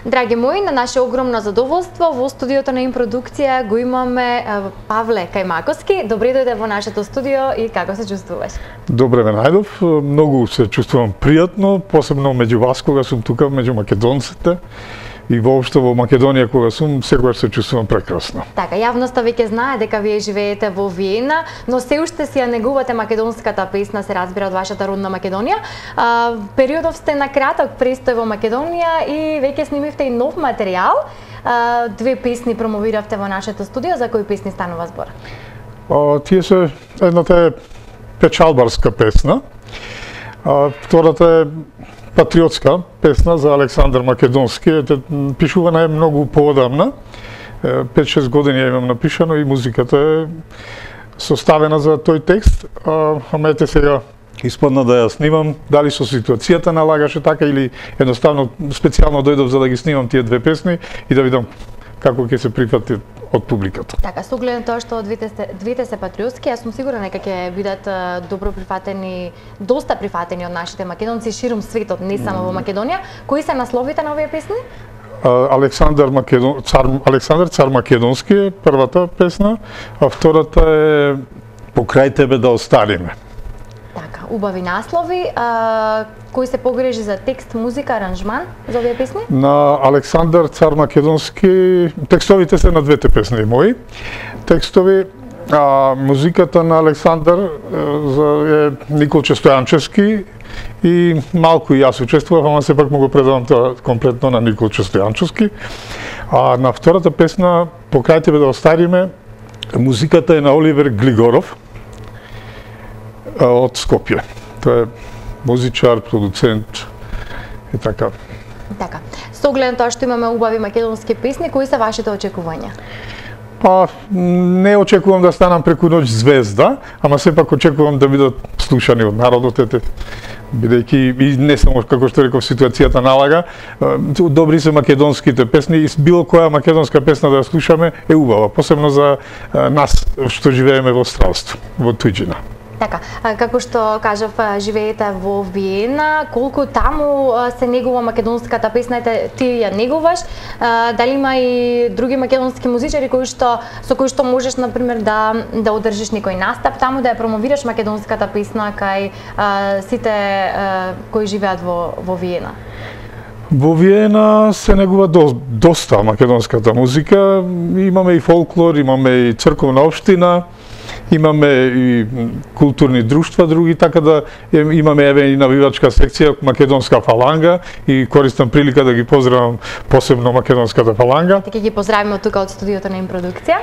Драги мои, на наше огромно задоволство во студиото на Импродукција го имаме Павле Кајмаковски. Добре дојде во нашето студио и како се чувствуваш? Добре ме најдов, многу се чувствувам пријатно, посебно меѓу вас кога сум тука, меѓу македонците. И воопшто во Македонија кога сум, секогаш се чувствувам прекрасно. Така, јавноста веќе знае дека вие живеете во Виена, но се уште си ја негувате македонската песна, се разбира, од вашата родна Македонија. Периодов сте на краток престој во Македонија и веќе снимивте и нов материјал. Две песни промовиравте во нашето студио, за кои песни станува збор? Тие се, едната е печалбарска песна, втората е патриотска песна за Александар Македонски. Пишувана е многу поодамна. 5-6 години ја имам напишано и музиката е составена за тој текст. Ама ете сега испадна да ја снимам, дали со ситуацијата налагаше така или едноставно специјално дојдов за да ги снимам тие две песни и да видам како ќе се прифати од публиката. Така, со оглед на тоа што двете се патриотски, јас сум сигурна дека ќе бидат добро прифатени, доста прифатени од нашите македонци ширум светот, не само во Македонија. Кои се насловите на овие песни? Александар цар Македонски е првата песна, а втората е Покрај тебе да остариме. Така, убави наслови. Кој се погрежи за текст, музика, аранжман за овие песни? На Александар цар Македонски, текстовите се на двете песни мои. Текстови, музиката на Александар е Николче Стојанчевски и малку и јас учествував, ама сепак му го предавам тоа комплетно на Николче Стојанчевски. А на втората песна, Покрај тебе да остариме, музиката е на Оливер Глигоров од Скопје. Тоа е музичар, продуцент и така. Така. Со оглед на тоа што имаме убави македонски песни, кои се вашите очекувања? Не очекувам да станам преку ноќ звезда, ама сепак очекувам да бидат слушани од народот, бидејќи и не само како што реков ситуацијата налага, добри се македонските песни и било која македонска песна да ја слушаме е убава, посебно за нас што живееме во странство, во туѓина. Така, како што кажав, живеете во Виена, колку таму се негува македонската песна, ти ја негуваш, дали има и други македонски музичари со кои што можеш, например, да одржиш некој настап таму, да ја промовираш македонската песна кај сите кои живеат во Виена? Во Виена се негува доста македонската музика, имаме и фолклор, имаме и црковна општина, имаме и културни друштва други, така да имаме еве и навивачка секција Македонска фаланга и користам прилика да ги поздравам посебно Македонската фаланга. Така ги поздравиме од тука од студиото на Импродукција.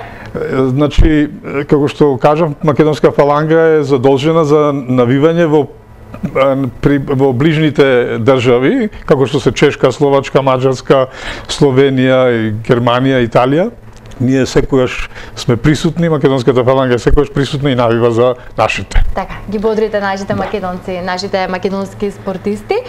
Значи, како што кажам, Македонска фаланга е задолжена за навивање во ближните држави, како што се Чешка, Словачка, Маđarска, Словенија и Германија, Италија. Ние секогаш сме присутни, Македонската фаланга е секогаш присутна и навива за нашите. Така, ги бодрите нашите македонци, нашите македонски спортисти.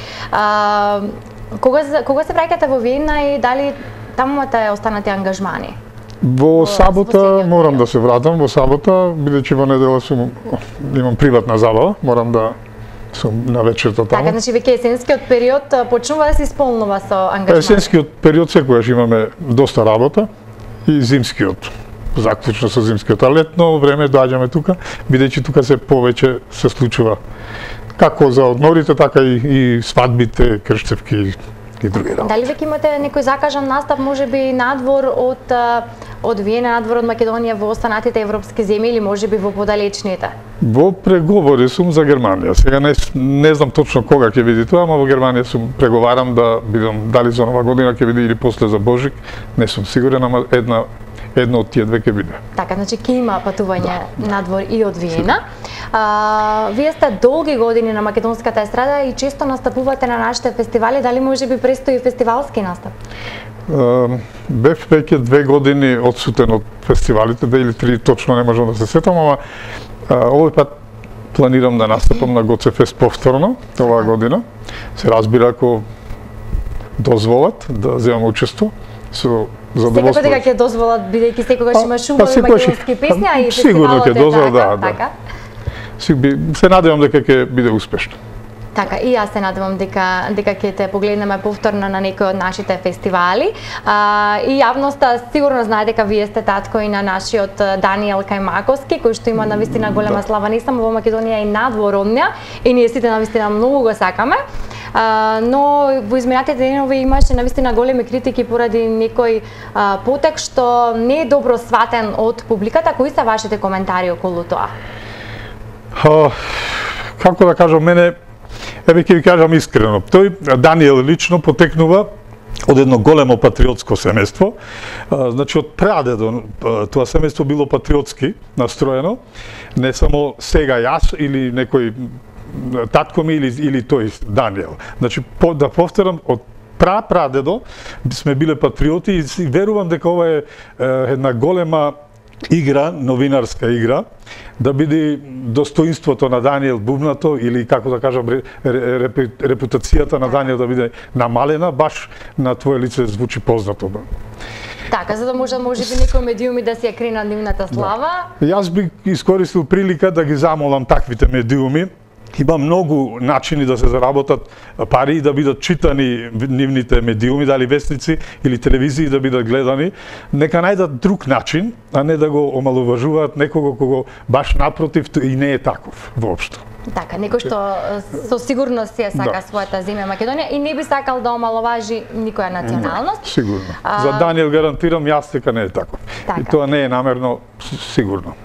Кога се враќате во Виена и дали таму имате останати ангажмани? Во сабота морам да се вратам, во сабота, бидејќи во недела имам приватна забава, морам да сум на вечерта таму. Така, значи веќе есенскиот период почнува да се исполнува со ангажмани? Есенскиот период секогаш имаме доста работа и зимскиот, заклучно со зимскиот, а летно време доаѓаме тука, бидејќи тука се повеќе се случува како за одморите, така и свадбите, крштевки и други работи. Дали веќе имате некој закажан настап, можеби надвор од Виена, надвор од Македонија во останатите европски земји или можеби во подалечните? Во преговори сум за Германија. Сега не знам точно кога ќе биде тоа, ама во Германија сум преговарам да бидам дали за нова година ќе биде или после за Божик, не сум сигурен, ама едно од тие две ќе биде. Така, значи ќе има патување надвор и од Виена. Вие сте долги години на македонската естрада и често настапувате на нашите фестивали, дали можеби престои фестивалски настап? Бев веќе 2 години одсутен од фестивалите, 2 или 3 точно не можам да се сетам, ама овој пат планирам да настапам на Гоцефест повторно оваа година. Се разбира ако дозволат да земам учество со задоволство. Секако дека ќе дозволат, бидејќи секогаш имаш убави македонски песни, а и сигурно фестивалот ќе дозволат, така. Се надевам дека ќе биде успешно. Така, и јас се надевам дека ќе те погледнеме повторно на некои од нашите фестивали. И јавноста сигурно знае дека вие сте татко и на нашиот Даниел Кајмаковски, кој што има навистина голема слава не само во Македонија и надвор од неа, и ние сите навистина многу го сакаме. Но во изминатите денови имаше навистина големи критики поради некој потек што не е добро сватен од публиката. Кои се вашите коментари околу тоа? Како да кажам, мене, еве ќе ви кажам искрено, тој Даниел лично потекнува од едно големо патриотско семејство. Значи, од прадедо тоа семејство било патриотски настроено, не само сега јас или некој татко ми или тој Даниел. Значи, да повторам, од прадедо сме биле патриоти и верувам дека ова е една голема игра, новинарска игра, да биде достоинството на Даниел бубнато или, како да кажам, репутацијата на Даниел да биде намалена, баш на твое лице звучи познато. Така, за да може би некои медиуми да си ја кренат нивната слава. Да. Јас би искористил прилика да ги замолам таквите медиуми. Има многу начини да се заработат пари и да бидат читани нивните медиуми, дали вестници или телевизии да бидат гледани. Нека најдат друг начин, а не да го омалуважуваат некого кого баш напротив и не е таков воопшто. Така, некој што со сигурност ја сака својата земја Македонија и не би сакал да омаловажи никоја националност. Сигурно. За Даниел гарантирам јас дека не е таков. И тоа не е намерно, сигурно.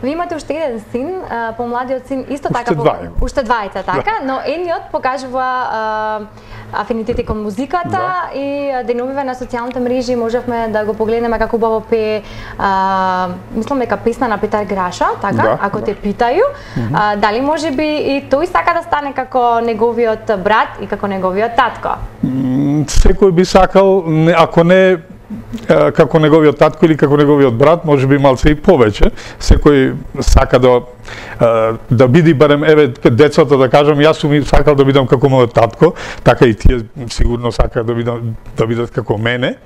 Ви имате уште еден син, помладиот син исто така уште двајца, така, но едниот покажува афинитети кон музиката и деновиве на социјалните мрежи можевме да го погледнеме како убаво пее, мислам дека песна на Петар Граша, така, ако те питају. Дали може би и тој сака да стане како неговиот брат и како неговиот татко? Секој би сакал, ако не како неговиот татко или како неговиот брат, може би малце и повеќе. Секој сака да биде барем, еве, децата да кажам, јас сум сакал да бидам како мојот татко, така и тие сигурно сакаат да бидат како мене.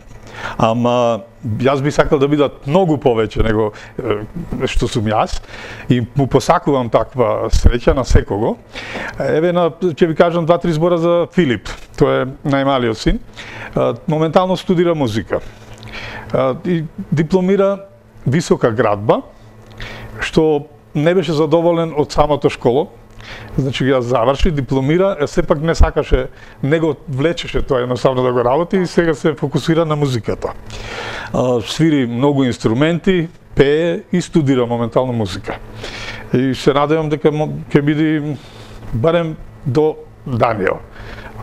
Ама јас би сакал да бидат многу повеќе него што сум јас и му посакувам таква среќа на секого. Еве, ќе ви кажам 2-3 збора за Филип. Тој е најмалиот син. Моментално студира музика. И дипломира висока градба, што не беше задоволен од самото школо. Значи ја заврши, дипломира, сепак не сакаше, не го влечеше тоа едноставно да го работи и сега се фокусира на музиката. Свири многу инструменти, пее и студира моментално музика. И се надевам дека ќе биде барем до Даниел,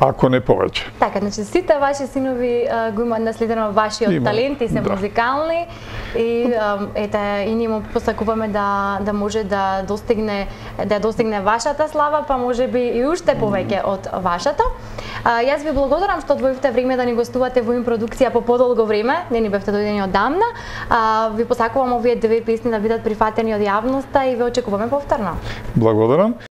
ако не повеќе. Така, значи сите ваши синови го имаат наследено вашиот талент и се музикални и ете и ние му посакуваме да може да достигне вашата слава, па може би и уште повеќе од вашата. Јас ви благодарам што одвоивте време да ни гостувате во продукција по подолго време, не ни бевте дојдени одамна. Ви посакувам овие две песни да бидат прифатени од јавноста и ве очекуваме повторно. Благодарам.